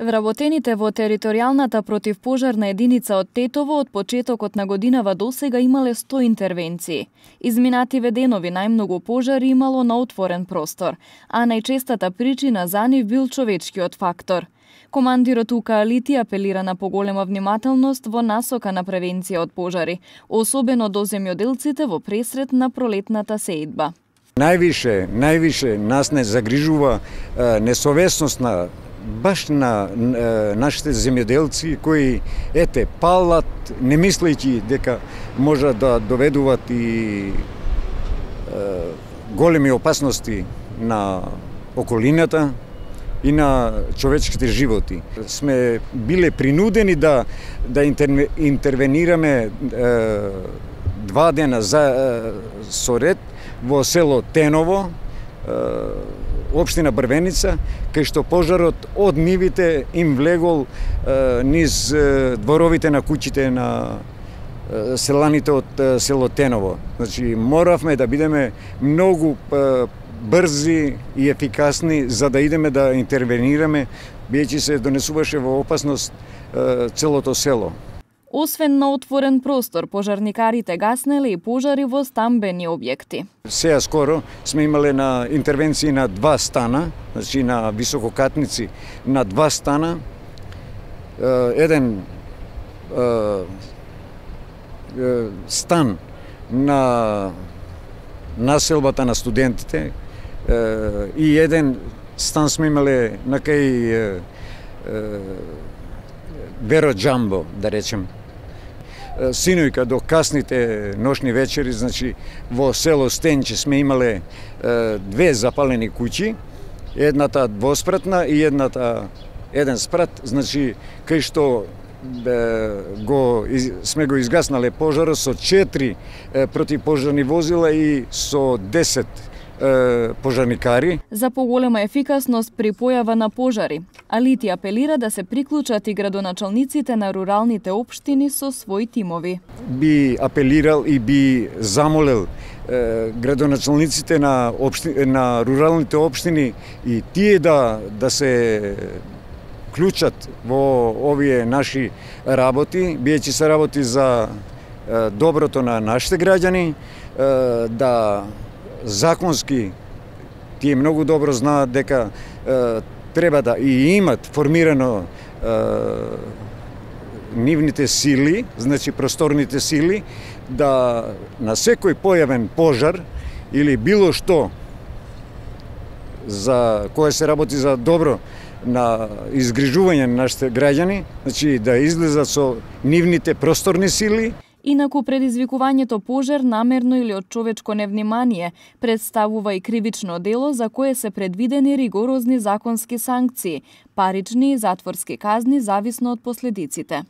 Вработените во територијалната противпожарна единица од Тетово од почетокот на годинава досега имале 100 интервенции. Изминативе денови најмногу пожари имало на отворен простор, а најчестата причина за нив бил човечкиот фактор. Командирот УК Алити апелира на поголема внимателност во насока на превенција од пожари, особено до земјоделците во пресрет на пролетната сеидба. Највише нас не загрижува несовесност баш на нашите земјоделци кои палат не мислејќи дека може да доведуваат и големи опасности на околината и на човечките животи. Сме биле принудени да интервенираме 2 дена со ред во село Теново, општина Брвеница, кај што пожарот од нивите им влегол низ дворовите на куќите на селаните од село Теново. Значи, моравме да бидеме многу брзи и ефикасни за да идеме да интервенираме, биејќи се донесуваше во опасност целото село. Освен на отворен простор, пожарникарите гаснеле и пожари во стамбени објекти. Сеја скоро сме имале на интервенции на 2 стана, значи на висококатници на 2 стана. Еден стан на населбата на студентите и еден стан сме имале на кај Веро Джамбо, да речем. Синојка до касните ношни вечери, значи во село Стенче сме имале 2 запалени куќи, едната двоспратна и еден спрат, значи кај што сме го изгаснале пожарот со 4 противпожарни возила и со 10 пожарникари. За поголема ефикасност при појава на пожари, Алити апелира да се приклучат и градоначалниците на руралните општини со своји тимови. Би апелирал и би замолел градоначалниците на руралните општини и тие да се клучат во овие наши работи, биејќи се работи за доброто на нашите граѓани, да законски тие многу добро знаат дека треба да и имат формирано нивните сили, значи просторните сили, да на секој појавен пожар или било што за кое се работи за добро на изгрижување на нашите граѓани, значи да излезат со нивните просторни сили. Инаку предизвикувањето пожар намерно или од човечко невнимание представува и кривично дело за кое се предвидени ригорозни законски санкции, парични и затворски казни зависно од последиците.